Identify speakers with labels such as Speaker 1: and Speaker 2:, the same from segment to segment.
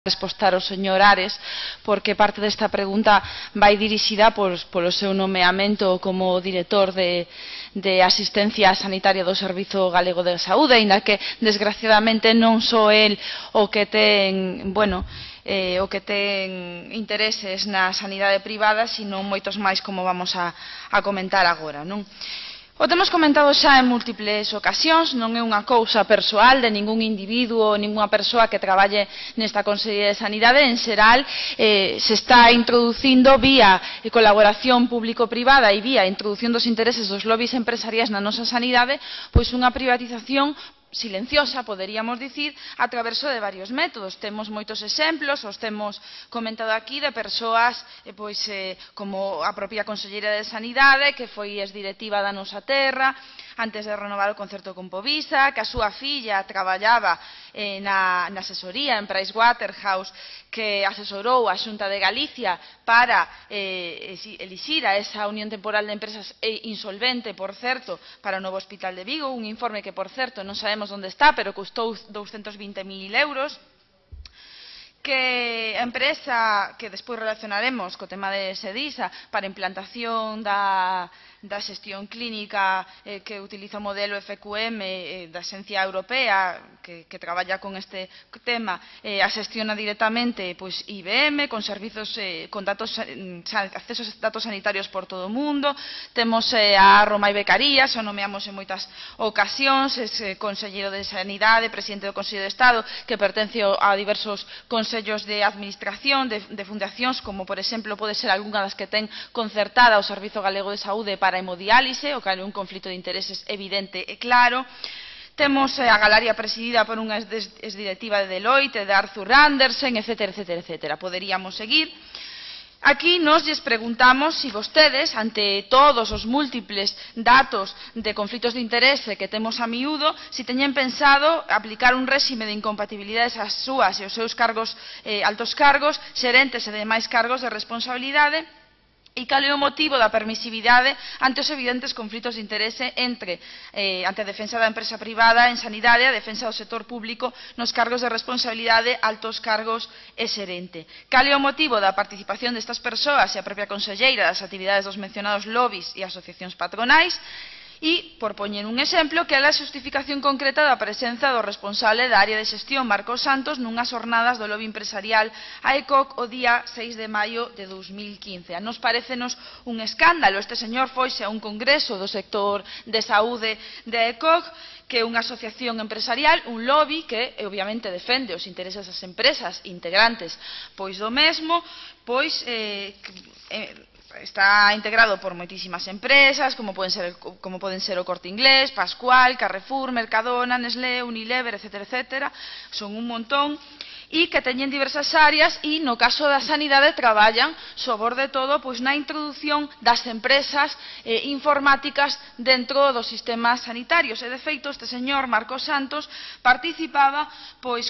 Speaker 1: respostar ao señor Ares, porque parte desta pregunta vai dirixida polo seu nomeamento como director de asistencia sanitaria do Servizo Galego de Saúde, aínda que, desgraciadamente, non só el o que ten, intereses na sanidade privada, sino moitos máis, como vamos a comentar agora, non? O temos comentado xa en múltiples ocasións, non é unha cousa persoal de ningún individuo ou ningunha persoa que traballe nesta Consellería de Sanidade. En xeral, se está introducindo vía colaboración público-privada e vía introducción dos intereses dos lobbies empresariais na nosa sanidade, pois unha privatización silenciosa, poderíamos dicir, a través de varios métodos. Temos moitos exemplos, os temos comentado aquí, de persoas como a propia Conselleira de Sanidade, que foi exdirectiva da Nosa Terra, antes de renovar o concerto con Povisa, que a súa filla traballaba na asesoría en Pricewaterhouse, que asesorou a Xunta de Galicia para elixir a esa unión temporal de empresas insolvente, por certo, para o novo Hospital de Vigo, un informe que, por certo, non sabemos onde está, pero custou 220.000 euros, que a empresa, que despois relacionaremos co tema de Sedisa, para implantación da xestión clínica que utiliza o modelo FQM da Axencia Europea, que traballa con este tema, a xestiona directamente IBM, con servizos, con accesos a datos sanitarios por todo o mundo. Temos a Romai Becarías, o nomeamos en moitas ocasións, é conselleiro de Sanidade, presidente do Consello de Estado, que pertence a diversos consellos de administración de fundacións, como por exemplo pode ser algunha das que ten concertada o Servizo Galego de Saúde para a hemodiálise, o que é un conflito de intereses evidente e claro. Temos a galería presidida por unha exdirectiva de Deloitte, de Arthur Andersen, etcétera, etcétera, etcétera. Poderíamos seguir. Aquí nos lles preguntamos se vostedes, ante todos os múltiples datos de conflitos de interese que temos a miúdo, se teñen pensado aplicar un réxime de incompatibilidades ás súas e aos seus cargos, altos cargos, xerentes e demais cargos de responsabilidade, e cal é o motivo da permisividade ante os evidentes conflitos de interese ante a defensa da empresa privada en sanidade e a defensa do sector público nos cargos de responsabilidade, altos cargos e xerente. Cal é o motivo da participación destas persoas e a propia conselleira das actividades dos mencionados lobbies e asociacións patronais. E, por poñer un exemplo, que é a xustificación concreta da presenza do responsable da área de xestión, Marcos Santos, nunhas jornadas do lobby empresarial AECOC o día 6 de maio de 2015. A nos parécenos un escándalo. Este señor foise a un congreso do sector de saúde de AECOC, que é unha asociación empresarial, un lobby que obviamente defende os intereses das empresas integrantes do mesmo, está integrado por moitísimas empresas, como poden ser o Corte Inglés, Pascual, Carrefour, Mercadona, Nestlé, Unilever, etcétera, etcétera. Son un montón, e que teñen diversas áreas e, no caso da sanidade, traballan, sobre todo, na introdución das empresas informáticas dentro dos sistemas sanitarios. E, de feito, este señor, Marcos Santos, participaba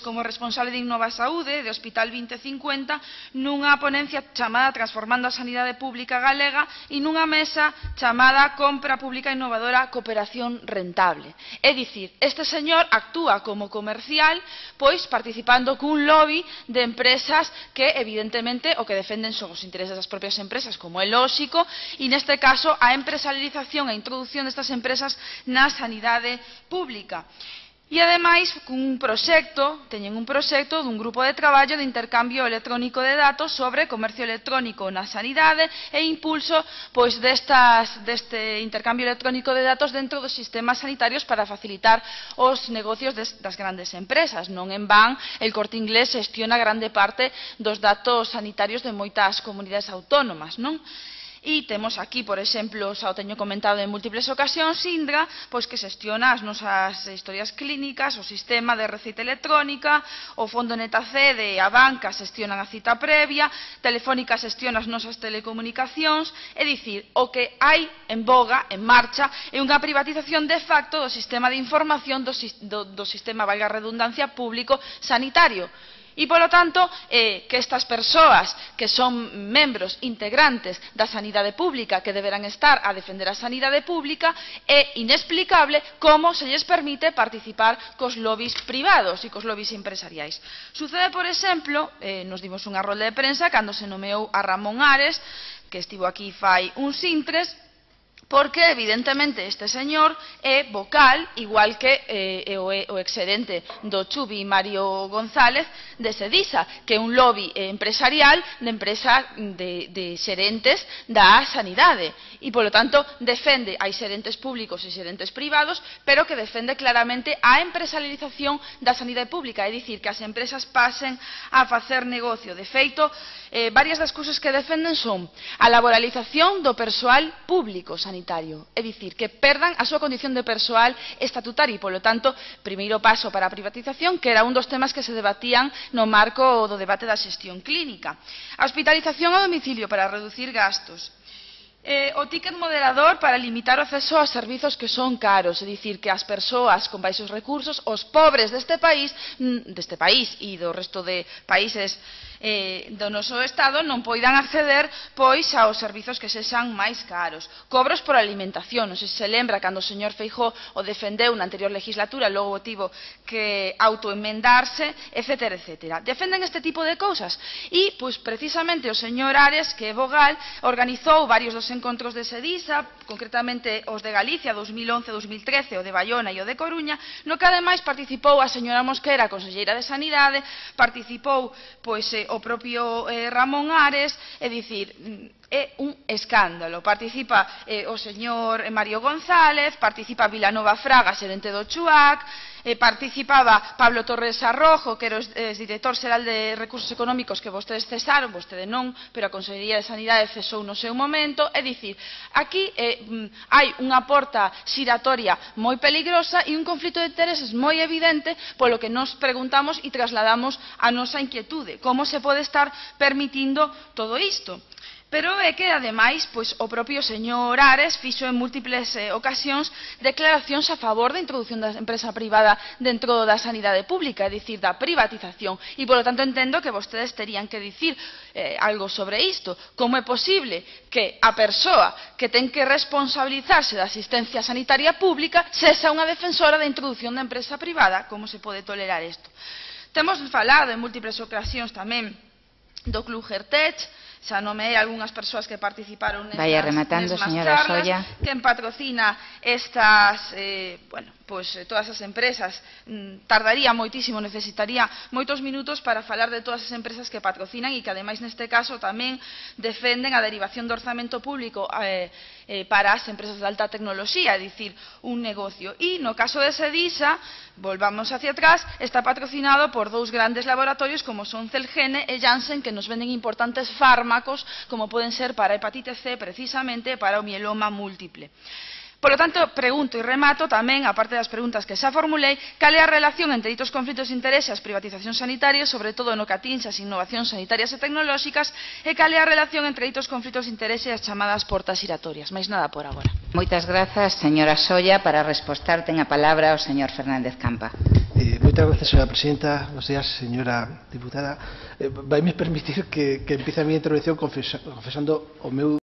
Speaker 1: como responsable de Innova Saúde, de Hospital 2050, nunha ponencia chamada Transformando a Sanidade Pública Galega e nunha mesa chamada Compra Pública Innovadora, Cooperación Rentable. É dicir, este señor actúa como comercial, participando cun lobby de empresas que, evidentemente, o que defenden son os intereses das propias empresas, como é lóxico, e neste caso a empresarialización e a introducción destas empresas na sanidade pública. E, ademais, teñen un proxecto dun grupo de traballo de intercambio electrónico de datos sobre comercio electrónico na sanidade e impulso deste intercambio electrónico de datos dentro dos sistemas sanitarios para facilitar os negocios das grandes empresas. Non en van, el Corte Inglés xestiona grande parte dos datos sanitarios de moitas comunidades autónomas, non? E temos aquí, por exemplo, xa o teño comentado en múltiples ocasións, Indra, que xestiona as nosas historias clínicas, o sistema de receita electrónica, o Fondo NetaC de a banca xestiona a cita previa, Telefónica xestiona as nosas telecomunicacións, é dicir, o que hai en boga, en marcha, é unha privatización de facto do sistema de información do sistema, valga a redundancia, público sanitario. E, polo tanto, que estas persoas que son membros integrantes da sanidade pública, que deberán estar a defender a sanidade pública, é inexplicable como se lles permite participar cos lobbies privados e cos lobbies empresariais. Sucede, por exemplo, nos dimos unha rolda de prensa cando se nomeou a Ramón Ares, que estivo aquí fai uns intres, porque evidentemente este señor é vocal, igual que o exxerente do Chubi, Mario González, de Sedisa, que é un lobby empresarial de xerentes da sanidade, e, polo tanto, defende hai xerentes públicos e xerentes privados, pero que defende claramente a empresarialización da sanidade pública, é dicir, que as empresas pasen a facer negocio. De feito, varias das cousas que defenden son a laboralización do persoal público sanitario, é dicir, que perdan a súa condición de persoal estatutario e, polo tanto, primeiro paso para a privatización, que era un dos temas que se debatían no marco do debate da xestión clínica. A hospitalización a domicilio para reducir gastos. O ticket moderador para limitar o acceso aos servizos que son caros, é dicir, que as persoas con baixos recursos, os pobres deste país e do resto de países do noso Estado non poidan acceder pois aos servizos que sexan máis caros. Cobros por alimentación, non sei se se lembra cando o señor Feijóo o defendeu na anterior legislatura, logo tivo que autoenmendarse, etcétera, etcétera. Defenden este tipo de cousas e, pois, precisamente o señor Ares, que é vogal, organizou varios dos encontros de Sedisa, concretamente os de Galicia 2011-2013, o de Baiona e o de Coruña, no que ademais participou a señora Mosquera, conselleira de Sanidade, participou pois o propio Ramón Ares, é dicir, é un escándalo. Participa o señor Mario González, participa Vilanova Fraga, xerente do CHUAC, participaba Pablo Torres Arrojo, que era o director xeral de Recursos Económicos, que vostedes cesaron, vostede non, pero a Consellería de Sanidade cesou no seu momento. É dicir, aquí hai unha porta xiratoria moi peligrosa e un conflito de intereses moi evidente, polo que nos preguntamos e trasladamos a nosa inquietude. Como se pode estar permitindo todo isto? Pero é que, ademais, pois, o propio señor Ares fixo en múltiples ocasións declaracións a favor da introdución da empresa privada dentro da sanidade pública, é dicir, da privatización. E, polo tanto, entendo que vostedes terían que dicir algo sobre isto. Como é posible que a persoa que ten que responsabilizarse da asistencia sanitaria pública sexa unha defensora da introducción da empresa privada? Como se pode tolerar isto? Temos falado en múltiples ocasións tamén do Club Gertech, xa nomeei algunhas persoas que participaron nestas charlas, quen patrocina estas, todas as empresas. Tardaría moitísimo, necesitaría moitos minutos para falar de todas as empresas que patrocinan e que, ademais, neste caso tamén defenden a derivación do orzamento público para as empresas de alta tecnoloxía, é dicir, un negocio. E no caso de Sedisa, volvamos hacia atrás, está patrocinado por dous grandes laboratorios como son Celgene e Janssen, que nos venden importantes fármacos como poden ser para a hepatite C, precisamente para o mieloma múltiple. Por lo tanto, pregunto e remato tamén, aparte das preguntas que xa formulei, cal é a relación entre ditos conflitos de interese e as privatizacións sanitarias, sobre todo no que atinxe as innovacións sanitarias e tecnolóxicas, e cal é a relación entre ditos conflitos de interese e as chamadas portas giratorias. Mais nada por agora.
Speaker 2: Moitas grazas, señora Solla. Para respostar ten a palabra o señor Fernández Campa.
Speaker 3: Moitas grazas, señora presidenta. Buenos días, señora diputada. Vaime permitir que empiece a miña intervención confesando o meu